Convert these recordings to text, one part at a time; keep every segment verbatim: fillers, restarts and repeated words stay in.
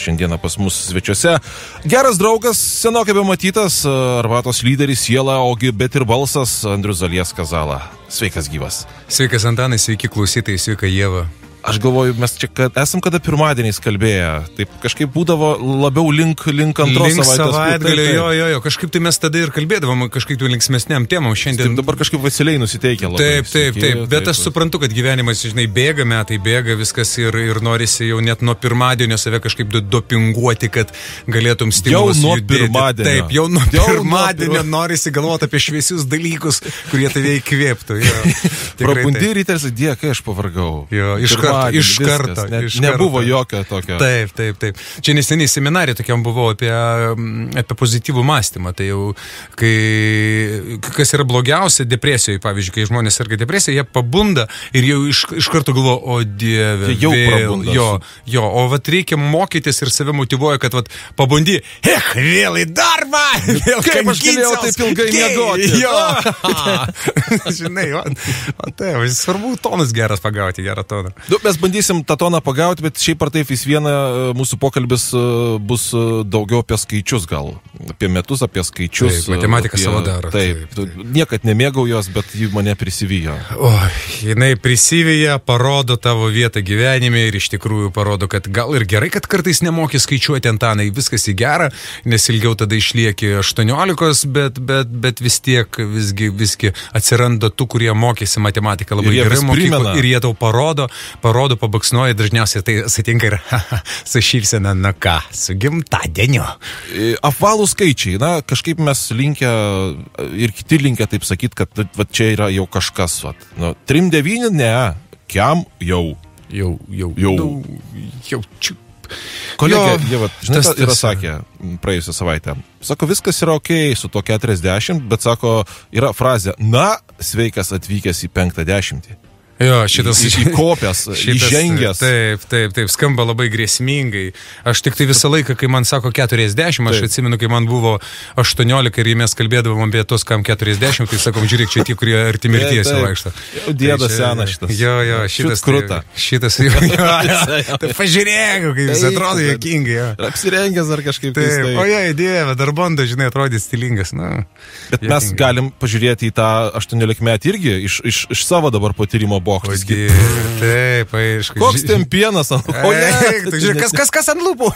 Šiandieną pas mus svečiuose geras draugas, senokai bematytas, Arbatos lyderis, siela, ogi, bet ir balsas, Andrius Zalieskas Zala. Sveikas gyvas. Sveikas Antanai, sveiki klausytojai, sveika Ieva. Aš galvoju, mes čia kad, esam kada pirmadieniais kalbėję, taip kažkaip būdavo labiau link, link antros link savaitės. Savaitgalio, jo, jo, jo, kažkaip tai mes tada ir kalbėdavom, kažkaip tai linksmesniam temam šiandien. Taip, dabar kažkaip vasiliai nusiteikia labai. Taip, taip, taip, bet taip, aš suprantu, kad gyvenimas, žinai, bėga, metai bėga, viskas ir, ir norisi jau net nuo pirmadienio save kažkaip dopinguoti, kad galėtum stimulus jau nuo judėti. Pirmadienio. Taip, jau nuo jau pirmadienio nuo norisi galvoti apie šviesius dalykus, kurie tave įkvėptų. Prabundi ryteris, dėkai, aš pavargau. Jo, iš karto, iš karto. Ne, iš nebuvo karto. jokio tokio. Taip, taip, taip. Čia neseniai seminarė tokiam buvau apie, apie pozityvų mąstymą. Tai jau, kai, kas yra blogiausia depresijoje, pavyzdžiui, kai žmonės serga depresiją, jie pabunda ir jau iš, iš karto galvo, o dieve, jau vėl, jo, jo, o vat reikia mokytis ir save motyvuoja, kad vat pabundi, ech, vėl į darbą, vėl kaip aš galėjau taip ilgai miegoti. Jo, žinai, man, man tai, svarbu tonas geras pagauti, gerą toną. Du, mes bandysim tą toną pagauti, bet šiaip ar taip vis viena mūsų pokalbis bus daugiau apie skaičius gal. Apie metus, apie skaičius. Taip, matematika apie, savo daro. Taip, taip, taip. Niekad nemėgau jos, bet ji mane prisivijo. O, jinai prisivijo, parodo tavo vietą gyvenime ir iš tikrųjų parodo, kad gal ir gerai, kad kartais nemoki skaičiuoti, Antanai, viskas į gerą, nes ilgiau tada išlieki aštuoniolikos, bet, bet, bet vis tiek visgi, visgi atsiranda tų, kurie mokėsi matematiką labai gerai mokyklą ir jie tau parodo, parodo, pabaksnuoja, dažniausiai tai satinka ir su šypsena, na ką, su gimtadieniu. Apvalų skaičiai, na, kažkaip mes linkę ir kiti linkę taip sakyti, kad va, čia yra jau kažkas, va. Nu, trim devyni, ne, kiam jau. Jau, jau, jau. Jau, čiu. Kolegė, jie, va, žinai, tas, yra tas, sakę praėjusią savaitę. Sako, viskas yra okei su to keturiasdešimt, bet sako, yra frazė, na, sveikas atvykęs į penktą dešimtį. Jo, šitas įkopęs, įžengęs. Taip, taip, taip, skamba labai grėsmingai. Aš tik tai visą laiką, kai man sako keturiasdešimt, aš taip. Atsimenu, kai man buvo aštuoniolika ir mes kalbėdavom apie tos, kam keturiasdešimt, tai sakom, žiūrėk, čia tie, kurie arti mirties vaikšto. Jau dėdas tai senas šitas. Jo, jo, šitas. Kruta. Šitas, jo, jo, jo. Tai pažiūrėk, kaip jis atrodo juokingai. Apsirengęs ar kažkaip taip. O jei, dieve, dar bando, žinai, atrodė stilingas. Na, bet juokingai. Mes galim pažiūrėti į tą aštuoniolikmetį irgi iš, iš, iš savo dabar patyrimo bokštas. Taip, aišku. Koks ten pienas ant lūpų? Žiūrėk, kas, kas, kas ant lūpų?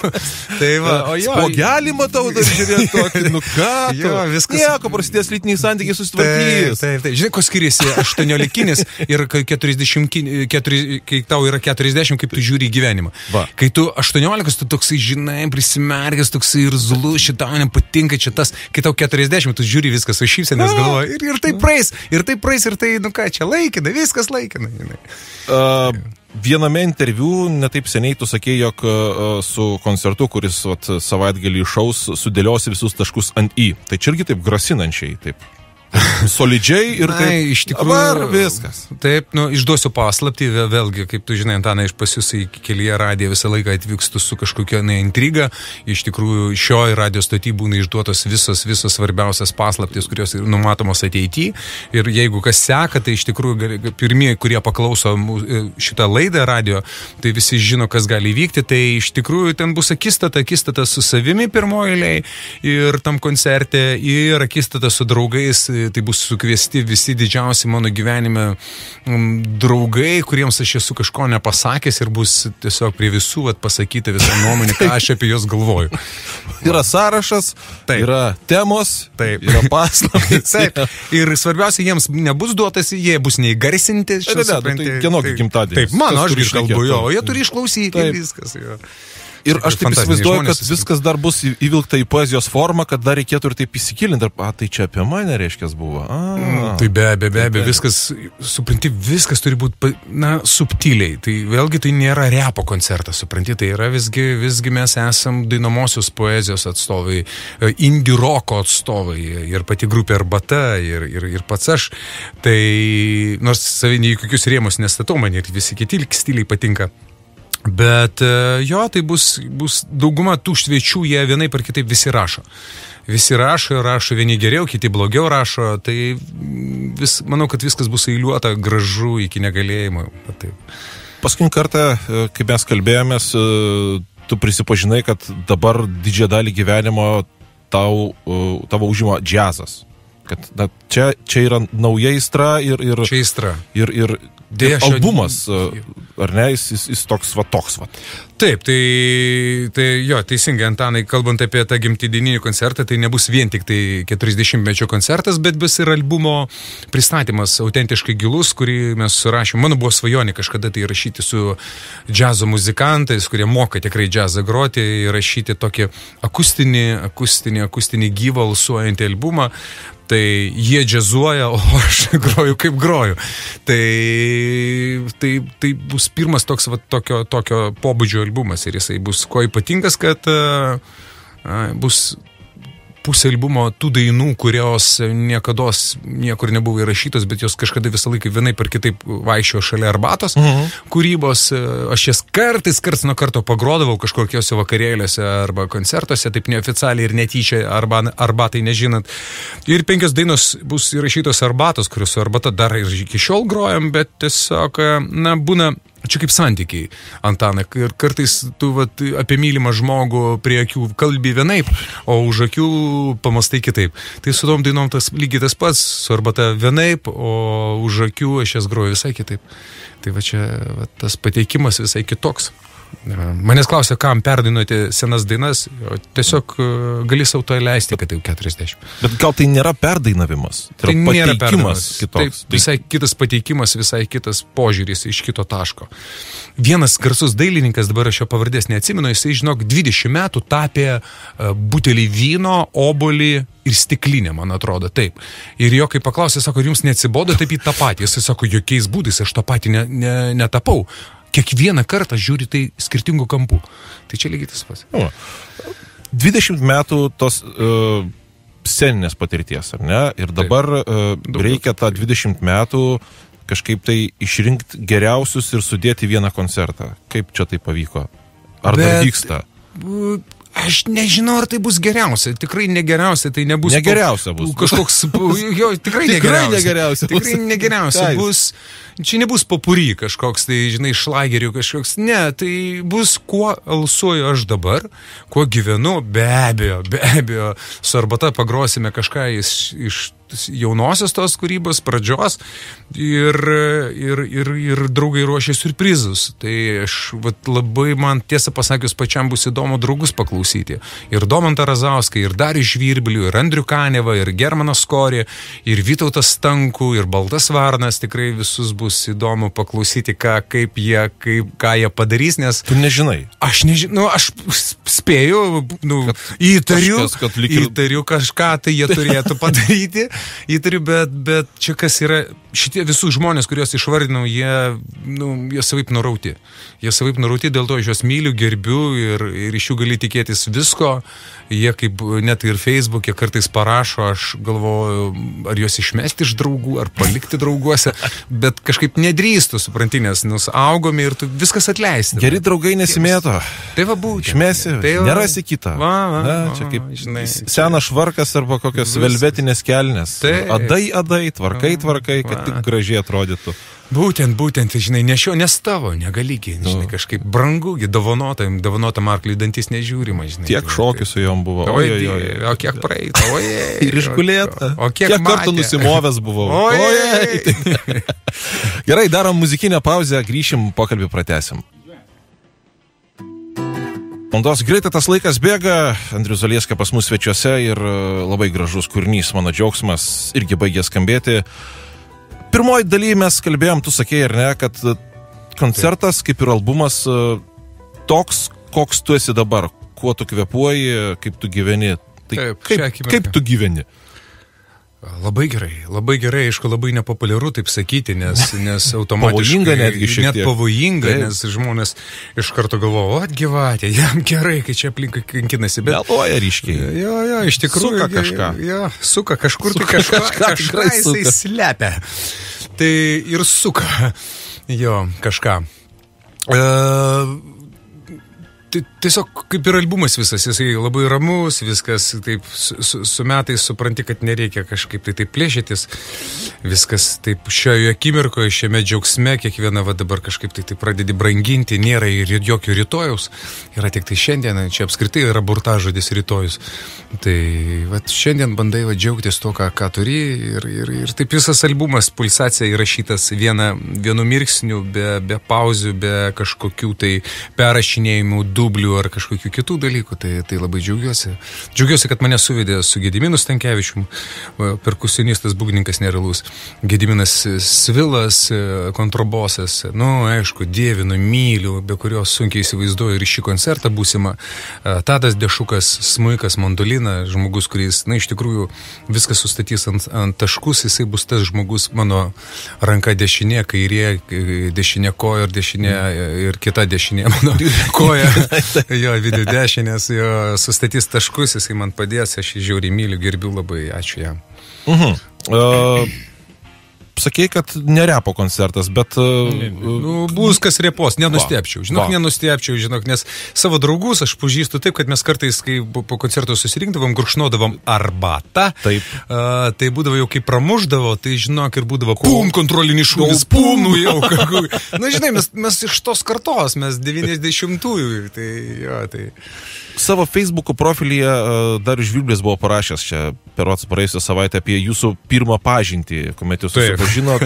Tai va, o jo. Spogelį matau dar žiūrėti tokį, nu ką tu? Jo, viskas. Nieko, prasidės lytiniai santykiai susitvarkys. Taip, taip, taip. Žinai, ko skiriasi aštuoniolikinis ir keturiasdešimt, keturi, kai tau yra keturiasdešimt, kaip tu žiūri į gyvenimą. Va. Kai tu aštuoniolikos, tu toksai, žinai, prisimerkęs, toksai ir zulu, šitau nepatinka čia tas. Kai tau keturiasdešimt, tu žiūri viskas, o šypsenės galvoja. Ir, ir tai praeis, ir tai praeis, ir tai, nu ką, čia laikina, viskas laikina. Uh, viename interviu netaip seniai tu sakei, jog uh, su koncertu, kuris vat, savaitgalį išaus, sudėliosi visus taškus ant į. Tai čia irgi taip grasinančiai, taip solidžiai ir taip. Ai, iš tikrųjų, dabar viskas. Taip, nu, išduosiu paslaptį, vėlgi, kaip tu žinai, Antanai, iš pas jūs į kelyje radiją visą laiką atvykstu su kažkokia ne, intriga. Iš tikrųjų, šioje radio stoty būna išduotos visos, visos svarbiausias paslaptys, kurios numatomos ateityje. Ir jeigu kas seka, tai iš tikrųjų pirmieji, kurie paklauso šitą laidą radio, tai visi žino, kas gali įvykti. Tai iš tikrųjų ten bus akistata, akistata su savimi pirmoji eilėje ir tam koncerte, ir akistata su draugais. Tai bus sukviesti visi didžiausi mano gyvenime draugai, kuriems aš esu kažko nepasakęs ir bus tiesiog prie visų vat, pasakyta visą nuomonę, ką aš apie juos galvoju. Yra sąrašas, taip. Yra temos, taip. Yra paslaptys. Taip. Ir svarbiausia, jiems nebus duotas, jie bus neįgarsinti. Ne, ne, ne, tai kieno gimtadienis. Taip, mano, aš ir kalbu, jo, o jie turi išklausyti taip. Ir viskas. Jo. Ir aš taip įsivaizduoju, kad viskas dar bus įvilkta į poezijos formą, kad dar reikėtų ir taip įsikilinti. A, tai čia apie mane, reiškia, buvo. A, mm, tai be abejo, be abejo, viskas, supranti, viskas turi būti, na, subtiliai. Tai vėlgi tai nėra repo koncertas, supranti, tai yra visgi, visgi mes esam dainomosios poezijos atstovai, indie roko atstovai ir pati grupė Arbata ir, ir, ir pats aš. Tai nors savinį į kokius rėmus nestatau, man ir visi kiti stiliai patinka. Bet jo, tai bus, bus dauguma tų svečių, jie vienaip ar kitaip visi rašo. Visi rašo, rašo vieni geriau, kiti blogiau rašo, tai vis, manau, kad viskas bus eiliuota gražu iki negalėjimo. Taip. Paskutinį kartą, kai mes kalbėjomės, tu prisipažinai, kad dabar didžiąją dalį gyvenimo tau, tavo užima džiazas. Kad na, čia, čia yra nauja aistra ir, ir, čia aistra. ir, ir, ir albumas, ar ne, jis, jis, jis toks va toks va. Taip, tai, tai jo, teisingai, Antanai, kalbant apie tą gimtadieninį koncertą, tai nebus vien tik tai keturiasdešimtmečio koncertas, bet bus ir albumo pristatymas autentiškai gilus, kurį mes surašėm. Mano buvo svajonė kažkada tai rašyti su džiazo muzikantais, kurie moka tikrai džiazą groti, rašyti tokį akustinį, akustinį, akustinį gyvą alsuojantį albumą. Tai jie džiazuoja, o aš groju kaip groju. Tai, tai, tai bus pirmas toks, va, tokio, tokio pobūdžio albumas ir jisai bus kuo ypatingas, kad uh, bus pusė albumo tų dainų, kurios niekados niekur nebuvo įrašytos, bet jos kažkada visą laiką vienai per kitaip vaikščiojo šalia arbatos uh-huh. kūrybos. Aš jas kartais, karts nuo karto pagrodavau kažkokiuose vakarėliuose arba koncertuose, taip neoficialiai ir netyčia, arba arbatai nežinant. Ir penkios dainos bus įrašytos arbatos, kurios su arbata dar ir iki šiol grojam, bet tiesiog, na, būna čia kaip santykiai, Antanai, ir kartais tu vat, apie mylimą žmogų prie akių kalbi vienaip, o už akių pamastai kitaip. Tai su tom dainom tas lygiai tas pats, su arbata vienaip, o už akių aš jas groju visai kitaip. Tai va čia va, tas pateikimas visai kitoks. Manęs klausia, kam perdainuoti senas dainas, tiesiog gali savo to leisti, kad jau keturiasdešimt. Bet gal tai nėra perdainavimas? Tai, tai nėra pateikimas kitoks. Tai visai kitas pateikimas, visai kitas požiūris iš kito taško. Vienas garsus dailininkas, dabar aš jo pavardės neatsimenu, jisai, žinok, dvidešimt metų tapė butelį vyno, obolį ir stiklinę, man atrodo, taip. Ir jo, kai paklausė, sako, ar jums neatsibodo taip į tą patį? Jisai sako, jokiais būdais aš tą patį ne, ne, netapau. Kiekvieną kartą žiūri tai skirtingų kampų. Tai čia lygiai tas pats. O, dvidešimt metų tos uh, sceninės patirties, ar ne? Ir dabar uh, reikia tą dvidešimt metų kažkaip tai išrinkti geriausius ir sudėti vieną koncertą. Kaip čia tai pavyko? Ar Bet... dar vyksta? Aš nežinau, ar tai bus geriausia. Tikrai negeriausia, tai nebus... Negeriausia bus. Kažkoks... Jo, tikrai negeriausia. negeriausia. Tikrai negeriausia. Bus... Čia nebus popuri kažkoks, tai, žinai, šlagerių kažkoks. Ne, tai bus, kuo alsuoju aš dabar, kuo gyvenu, be abejo, be abejo. Su arbata pagrosime kažką iš, iš jaunosios tos kūrybos pradžios ir, ir, ir, ir draugai ruošia surprizus. Tai aš vat, labai man tiesą pasakius pačiam bus įdomu draugus paklausyti. Ir Domantą Razauską, ir Darių Žvirbilių, ir Andrių Kanevą, ir Germaną Skorį, ir Vytautas Stankų, ir Baltas Varnas. Tikrai visus bus įdomu paklausyti, ką, kaip jie, kaip, ką jie padarys, nes... Tu nežinai. Aš nežinau, nu, aš spėju, nu, kad įtariu, kažkas, kad ir... įtariu kažką, tai jie turėtų padaryti. Įtariu, bet, bet čia kas yra, šitie visų žmonės, kuriuos išvardinau, jie, nu, jie savaip nurauti. Jie savaip nurauti, dėl to aš juos myliu, gerbiu ir, ir iš jų gali tikėtis visko. Jie kaip net ir Facebook'e kartais parašo, aš galvoju, ar juos išmesti iš draugų, ar palikti drauguose, bet kažkaip nedrįstu, supranti, nes augome ir tu viskas atleisti. Geri draugai nesimėto. Tai va būtent. Išmesi, tai va, nerasi kitą. Va, va, Na, čia kaip žinai, senas švarkas arba kokios vis... velvetinės kelnes. Tai... Adai, adai, tvarkai, tvarkai, kad tik gražiai atrodytų. Būtent, būtent, žinai, nešio, nes tavo, negaligi, žinai, kažkaip brangu, dovanotam, dovanotam arkliui dantis nežiūrima, žinai. Tiek šokių su jom buvo. Oi, oi, oi, o kiek praeita, oi, ir išgulėta. O kiek, kiek kartų nusimovęs buvau. Oi, oi. Gerai, darom muzikinę pauzę, grįšim, pokalbį pratęsim. Valandos greitai tas laikas bėga, Andrius Zalieska pas mus svečiuose ir labai gražus kūrinys, mano džiaugsmas, irgi baigė skambėti. Pirmoji daly mes kalbėjom, tu sakėjai, ar ne, kad koncertas, kaip ir albumas, toks, koks tu esi dabar, kuo tu kvėpuoji, kaip tu gyveni. Tai Taip, kaip, kaip tu gyveni? Labai gerai, labai gerai, aišku, labai nepopuliaru taip sakyti, nes, nes automatiškai... Pavojinga netgi šiek tiek. Net pavojinga, Taip. nes žmonės iš karto galvoja, o, gyvatė, jam gerai, kai čia aplinkai kankinasi, bet... Meluoja ryškiai. Jo, jo, iš tikrųjų... Suka kažką. Jo, suka kažkur, Suka tai kažką, kažką, kažką jisai suka. slepia. Tai ir suka, jo, kažką. Uh, tiesiog kaip ir albumas visas, jisai labai ramus, viskas taip su, su, su metais supranti, kad nereikia kažkaip tai taip plėšytis, viskas taip šioje akimirkoje, šiame džiaugsme, kiekvieną va dabar kažkaip tai, tai pradedi branginti, nėra ir jokio rytojaus, yra tik tai šiandien, čia apskritai yra burtažodis rytojus. Tai va šiandien bandai va džiaugtis to, ką, ką turi ir, ir, ir taip visas albumas, pulsacija įrašytas viena, vienu mirksniu, be, be pauzių, be kažkokių tai perrašinėjimų, dublių ar kažkokių kitų dalykų, tai, tai labai džiaugiuosi. Džiaugiuosi, kad mane suvedė su Gediminu Stankevičium, perkusionistas, būgnininkas nerealus, Gediminas Svilas, kontrabosas, nu, aišku, dievinu, myliu, be kurios sunkiai įsivaizduoju ir šį koncertą būsimą. Tadas Dešukas, smuikas, mandolina, žmogus, kuris, na, iš tikrųjų viskas sustatys ant, ant taškus, jisai bus tas žmogus, mano ranka dešinė, kairė, dešinė koja ir dešinė ir kita dešinė mano koja. Jo, video dešinės, jo, sustatys taškus, jisai man padės, aš jį žiauriai myliu, gerbiu labai, ačiū jam. Mhm. Uh, sakei, kad nerepo koncertas, bet... Uh, nu, bus kas repos, nenustepčiau, žinok, va. nenustepčiau, žinok, nes savo draugus aš pažįstu taip, kad mes kartais, kai po koncerto susirinkdavom, gurkšnodavom arbatą, taip. Uh, tai būdavo jau kaip pramuždavo, tai žinok, ir būdavo pum, kontrolinis šūvis, pum, nu jau, kakui. Na, žinai, mes, mes iš tos kartos, mes devyniasdešimtųjų, tai jo, tai... Savo Facebook'o profilyje dar Žvirblis buvo parašęs čia per praėjusią savaitę apie jūsų pirmą pažintį, kuomet jūs susipažinot,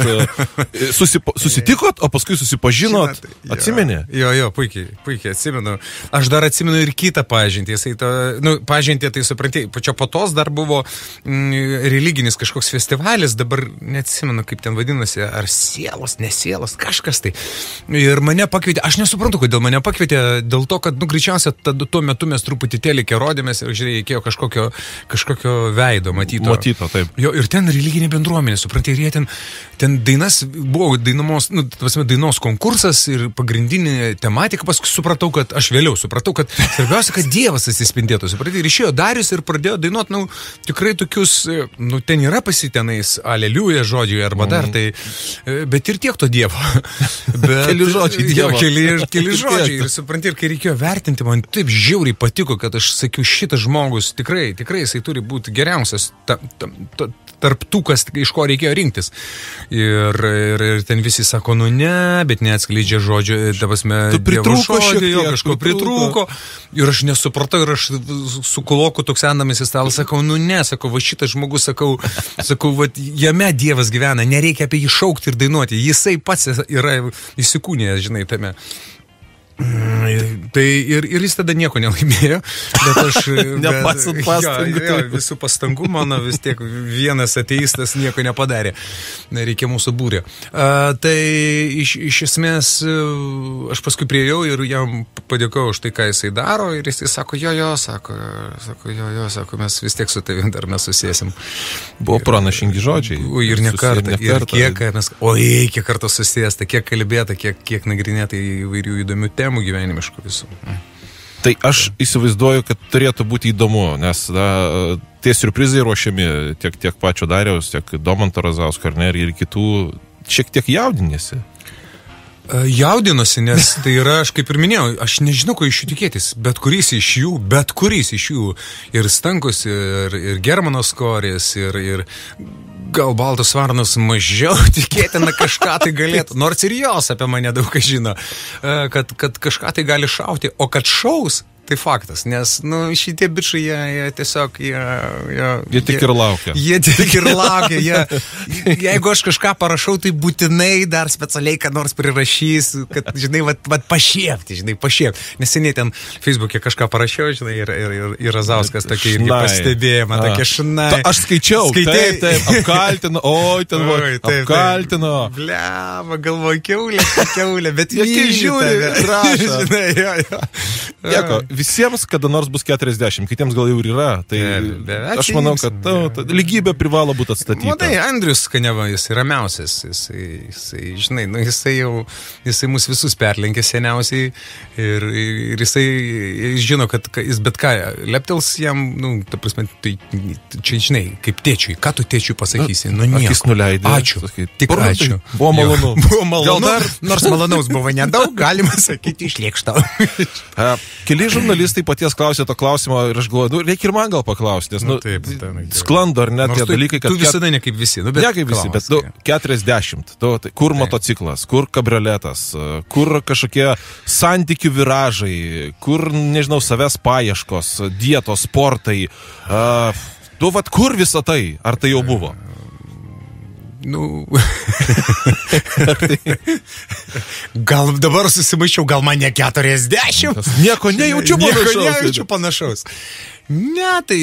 susipa, susitikot, o paskui susipažinot, Žinot, atsimeni? Jo, jo, puikiai, puikiai atsimenu. Aš dar atsimenu ir kitą pažintį. Jisai to, nu, pažintį, tai supranti, pačio po tos dar buvo mm, religinis kažkoks festivalis, dabar neatsimenu, kaip ten vadinasi, ar sielos, nesielos, kažkas tai. Ir mane pakvietė, aš nesuprantu, kodėl mane pakvietė, dėl to, kad, nu, greičiausia, tuo metu mes truputį telikę rodėmės ir, žiūrėjai, reikėjo kažkokio, kažkokio veido matyto. Matyto, taip. Jo, ir ten religinė bendruomenė, suprantai, ir jie ten, ten dainas, buvo dainamos, nu, tasme, dainos konkursas ir pagrindinė tematika, paskui supratau, kad, aš vėliau supratau, kad svarbiausia, kad Dievas atsispindėtų, supratau, ir išėjo Darius ir pradėjo dainuoti, nu, tikrai tokius, nu, ten yra pasitenais aleliuja žodžiai arba dar, tai, bet ir tiek to Dievo. Bet, keli žodžiai Dievo. Jo, keli, keli žodžiai, ir suprantai, ir kai reikėjo vertinti, man taip žiauriai patiko, kad aš sakiau, šitas žmogus tikrai, tikrai jisai turi būti geriausias ta, ta, ta, tarp tų, kas iš ko reikėjo rinktis. Ir, ir, ir ten visi sako, nu ne, bet neatskleidžia žodžio, davasme, Dievo žodžio, jo, kažko pritrūko. Ir aš nesupratau, ir aš su kuloku toks sendamis į stalą sakau, nu ne, sakau, va šitas žmogus, sakau, sakau, va jame Dievas gyvena, nereikia apie jį šaukti ir dainuoti, jisai pats yra įsikūnėjęs, žinai, tame. Tai ir, ir jis tada nieko nelaimėjo, bet aš nepasant pastangų. Jo, jo, visų pastangų mano vis tiek vienas ateistas nieko nepadarė, reikia mūsų būrė. A, tai iš, iš esmės aš paskui priejau ir jam padėkau už tai, ką jisai daro, ir jisai sako, jo, jo, sako, sako jo, jo, sako, mes vis tiek su tavim dar mes susėsim. Buvo pranašingi žodžiai. Ir ne kartą, ir kiek mes, oi, kiek kartų susėsta, kiek kalbėta, kiek, kiek nagrinėta įvairių įdomių temų gyvenimiškų visų. Tai aš įsivaizduoju, kad turėtų būti įdomu, nes da, tie siurprizai ruošiami tiek, tiek pačio Dariaus, tiek Domanto Razausko ar ne, ir kitų šiek tiek jaudinėsi. Jaudinosi, nes tai yra, aš kaip ir minėjau, aš nežinau, ko iš jų tikėtis, bet kuris iš jų, bet kuris iš jų, ir Stankus, ir, ir Germanos Korės, ir, ir gal Baltas Varnas mažiau tikėtina kažką tai galėtų, nors ir jos apie mane daug ką žino, kad, kad kažką tai gali šauti, o kad šaus, tai faktas, nes, nu, šitie bičai, jie, jie tiesiog, jie... Jie, jie tik jie, ir laukia. Jie tik ir laukia, jie, jeigu aš kažką parašau, tai būtinai dar specialiai, kad nors prirašys, kad, žinai, vat, vat pašiepti, žinai, pašiepti. Neseniai ten Facebook'e kažką parašiau, žinai, ir, ir, ir, ir Razauskas tokį irgi pastebėjimą, tokia šnai. Ta, aš skaičiau, Skaitai, taip, taip, apkaltino, oi, ten oi, taip, apkaltino. Blema, galvoju, kiaulė, kiaulė, bet jie žiūri, rašo. Žinai, jo, jo. Nieko, visiems kada nors bus keturiasdešimt, kitiems gal jau ir yra. Tai be, be, aš manau, kad ta, ta, lygybė privalo būti atstatyta. Matai, Andrius Kaniava, jis yra ramiausias. Jisai, jisai, žinai, nu, jisai jau, jisai mus visus perlenkė seniausiai ir, ir jisai žino, kad jis bet ką, leptels jam, nu, ta prasme, tai čia, žinai, kaip tėčiui, ką tu tėčiui pasakysi? Nu, nieko. Akis nuleidė. Ačiū. Sakai, tik ačiū. Buvo malonu. Jo, buvo malonu. Dar... Nors malonaus buvo nedaug, galima sakyti, išlėkštau. Keli žurnalistai paties klausė to klausimo ir aš galvoju, nu, reikia ir man gal paklausti, nes, nu, nu taip, taip, taip. Sklando ar ne tie dalykai, kad... Tu visada ne kaip visi, nu, bet... Ne kaip visi, bet nu, keturiasdešimt. Tu, tai, kur taip. Motociklas, kur kabrioletas, kur kažkokie santykių viražai, kur, nežinau, savęs paieškos, dietos, sportai. Uh, tu, vat, kur visą tai? Ar tai jau buvo? Nu, gal dabar susimaišiau, gal man ne keturiasdešimt. Nieko nejaučiu panašaus. Nieko nejaučiu panašaus. Ne, tai,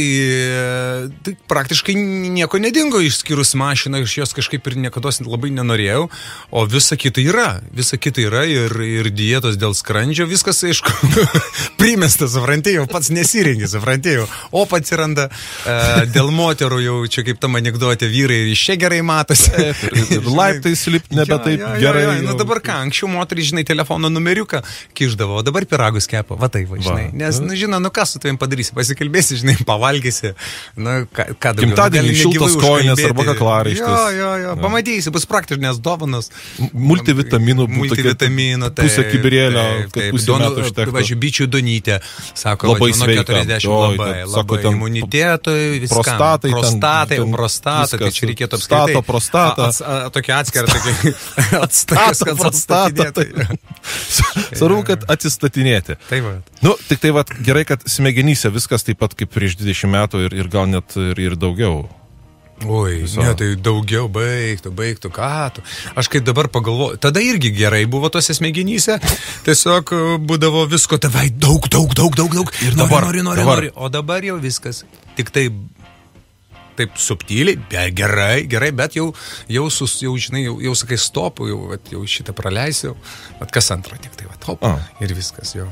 tai praktiškai nieko nedingo išskyrus mašiną, iš jos kažkaip ir niekada labai nenorėjau, o visa kita yra, visa kita yra ir, ir dietos dėl skrandžio, viskas, aišku, primestas, suprantėjau, pats nesirengi, suprantėjau, o pats atsiranda e, dėl moterų jau čia kaip tam anekdote vyrai ir iš čia gerai matosi. Laiptai slipti nebe taip ja, ja, gerai. Ja, ja, nu dabar ką, anksčiau moterį, žinai, telefono numeriuką kišdavo, o dabar piragus kepa, va taip, va, žinai, nes, nu, žinai, nu ką su tavim padarysi, pasikalbėsi. Bėsi, žinai, pavalgysi, na, ką, ką daugiau. Gimtadienį šiltas koinės arba kaklaraištis. Jo, jo, jo, pamatysi, bus praktiškės dovanos. Multivitaminų, multivitaminų, tai, pusę kibirėlio, kad pusę metų užtektų. Važiu, bičių Donytė, sako, labai važiu, nuo keturiasdešimt Oi, labai, ten, labai sako, ten, imunitetui, viskam. Prostatai, prostatai, ten, prostatai, tai čia reikėtų apskritai. Stato, prostata. Tokia atskira, tokia atstatas, kad atstatinėtai. Svarbu, kad atsistatinėti. Taip, va. Nu, tik tai, va, gerai, kad smegenyse viskas taip pat kaip prieš dvidešimt metų ir, ir gal net ir, ir daugiau. Oi, Viso. Ne, tai daugiau baigtų, baigtų, ką tu. Aš kaip dabar pagalvoju, tada irgi gerai buvo tose smegenyse, tiesiog būdavo visko, tavai daug, daug, daug, daug, daug. Ir nori, dabar, nori, nori, dabar. nori. O dabar jau viskas. Tik tai taip subtiliai, be, gerai, gerai, bet jau, jau, sus, jau žinai, jau, jau sakai stopų, jau, vat, jau šitą praleisiu, vat kas antrą tik tai, vat, hop, A. ir viskas jau.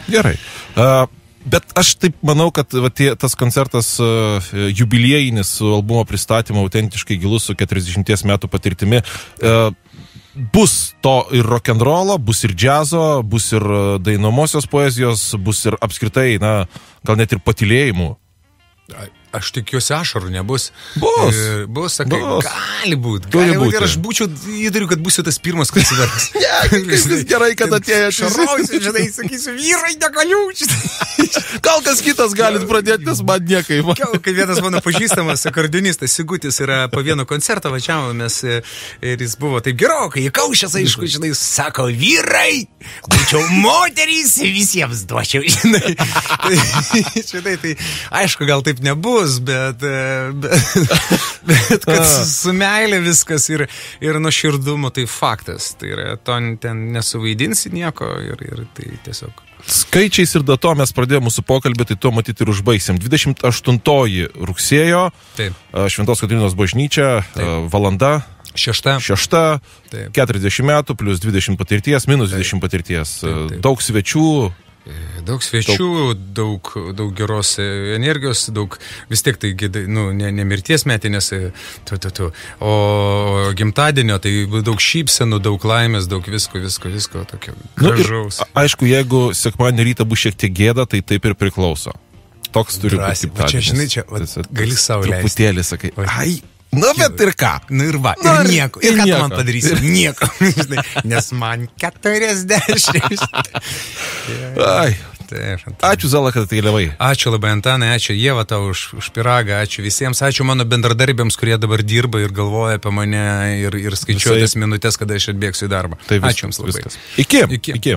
Gerai. Uh, Bet aš taip manau, kad va, tie, tas koncertas uh, jubiliejinis su albumo pristatymu autentiškai gilus su keturiasdešimties metų patirtimi uh, bus to ir rock'n'rollo, bus ir džiazo, bus ir dainomosios poezijos, bus ir apskritai, na, gal net ir patylėjimų. Aš tikiuosi ašarų nebus. Bus. E, bus, sakai, bus. Gali būti. Gali būti. Ir aš būčiau, įtariu, kad būsiu tas pirmas koncertas. Ne, vis gerai, kad atėjo čia. Šarausiu, žinai, sakysiu, vyrai, negaliu. Gal kas kitas galit pradėti, nes man niekai. Kai vienas mano pažįstamas akordeonistas Sigutis yra po vieno koncerto važiavomės ir jis buvo taip gerokai, įkaušęs, aišku, žinai, sako, vyrai, būčiau moterys, visiems duočiau, žinai. Žinai, tai aišku, gal taip nebus. Bet, bet, bet kad su, su meilė viskas ir, ir nuoširdumu, tai faktas. Tai yra, to ten nesuvaidinsi nieko ir, ir tai tiesiog. Skaičiais ir dato mes pradėjome mūsų pokalbį, tai to matyti ir užbaigsim. dvidešimt aštuntoji rugsėjo, Taip. Šventos Kotrynos bažnyčia, Taip. valanda. Šešta. Šešta, Taip. keturiasdešimt metų, plus dvidešimt patirties, minus Taip. dvidešimt patirties. Taip, taip. Daug svečių. Daug svečių, daug, daug geros energijos, daug vis tiek tai, nu, ne, ne mirties metinės, tu, tu, tu. O gimtadienio, tai daug šypsenų, daug laimės, daug visko, visko, visko, tokio gražaus. Nu, ir, aišku, jeigu sekmadienio rytą bus šiek tiek gėda, tai taip ir priklauso. Toks turi būti gimtadienis. Čia, žinai, čia va, gali savo leisti. Truputėlį sakai, ai. Na, bet ir ką? Na ir va, ir Na, nieko. Ir, ir ką nieko. Tu man padarysi? Nieko. Nes man keturiasdešimt. Ai. Taip, ačiū, Zala, kad atkeliavai. Ačiū labai, Antanai, ačiū Ieva tau už, už piragą, ačiū visiems, ačiū mano bendradarbiams, kurie dabar dirba ir galvoja apie mane ir, ir skaičiuoja tas minutės, kada aš atbėgsiu į darbą. Tai vis, ačiū jums labai. Viskas. Iki. Iki. Iki.